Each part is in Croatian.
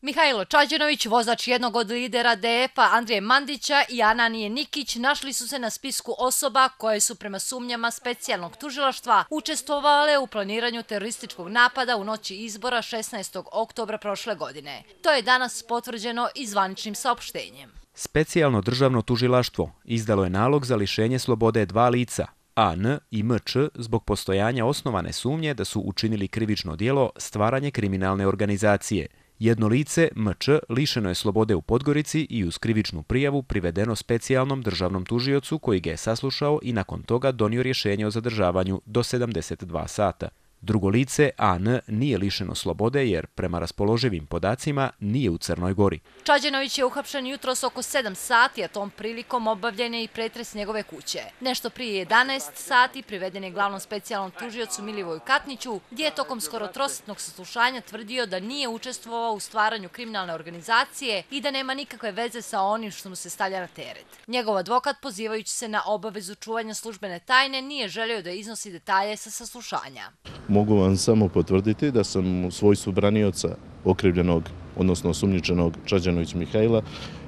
Mihajlo Čađenović, vozač jednog od lidera DF-a Andrije Mandića i Ananije Nikić našli su se na spisku osoba koje su prema sumnjama specijalnog tužilaštva učestvovale u planiranju terorističkog napada u noći izbora 16. oktobra prošle godine. To je danas potvrđeno i zvaničnim saopštenjem. Specijalno državno tužilaštvo izdalo je nalog za lišenje slobode dva lica, AN i MČ, zbog postojanja osnovane sumnje da su učinili krivično djelo stvaranje kriminalne organizacije. Jedno lice, MČ, lišeno je slobode u Podgorici i uz krivičnu prijavu privedeno specijalnom državnom tužiocu koji ga je saslušao i nakon toga donio rješenje o zadržavanju do 72 sata. Drugo lice, AN, nije lišeno slobode jer, prema raspoloživim podacima, nije u Crnoj Gori. Čađenović je uhapšen jutros oko 7 sati, a tom prilikom obavljen je i pretres njegove kuće. Nešto prije 11 sati priveden je glavnom specijalnom tužiocu Milivoju Katniću, gdje je tokom skoro trosatnog saslušanja tvrdio da nije učestvovao u stvaranju kriminalne organizacije i da nema nikakve veze sa onim što mu se stavlja na teret. Njegov advokat, pozivajući se na obavezu čuvanja službene tajne, nije želio da iznosi detalje sa saslušanja. Mogu vam samo potvrditi da sam u svojstvu branioca okrivljenog, odnosno osumnjičenog Čađenović Mihajla,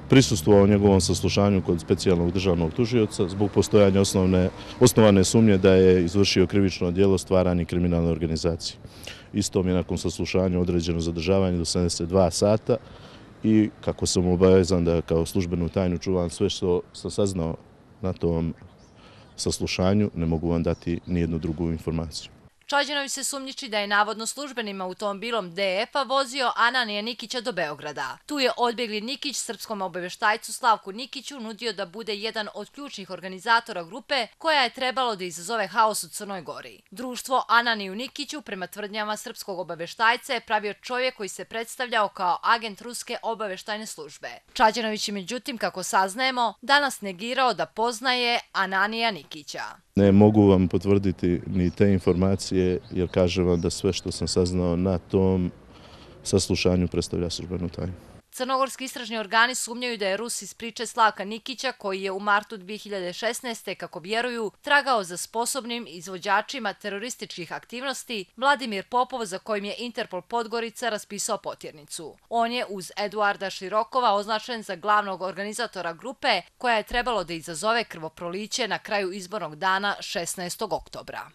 prisustvovao njegovom saslušanju kod specijalnog državnog tužioca zbog postojanja osnovane sumnje da je izvršio krivično djelo stvaranje kriminalne organizacije. Isto mi je nakon saslušanja određeno zadržavanje do 72 sata i kako sam obavezan da kao službenu tajnu čuvam sve što sam saznao na tom saslušanju, ne mogu vam dati nijednu drugu informaciju. Čađenović se sumnjiči da je navodno službenim automobilom DF-a vozio Ananija Nikića do Beograda. Tu je odbjegli Nikić srpskom obavještajcu Slavku Nikiću nudio da bude jedan od ključnih organizatora grupe koja je trebalo da izazove haos u Crnoj Gori. Društvo Ananiju Nikiću, prema tvrdnjama srpskog obavještajca, je pravio čovjek koji se predstavljao kao agent ruske obavještajne službe. Čađenović je, međutim, kako saznajemo, danas negirao da poznaje Ananija Nikića. Ne mogu vam potvrditi ni te informacije jer kažem vam da sve što sam saznao na tom saslušanju predstavlja službenu tajnu. Crnogorski istražni organi sumnjaju da je Rus iz priče Slavka Nikića, koji je u martu 2016. kako vjeruju, tragao za sposobnim izvođačima terorističkih aktivnosti, Vladimir Popov, za kojim je Interpol Podgorica raspisao potjernicu. On je uz Eduarda Širokova označen za glavnog organizatora grupe koja je trebalo da izazove krvoproliće na kraju izbornog dana 16. oktobra.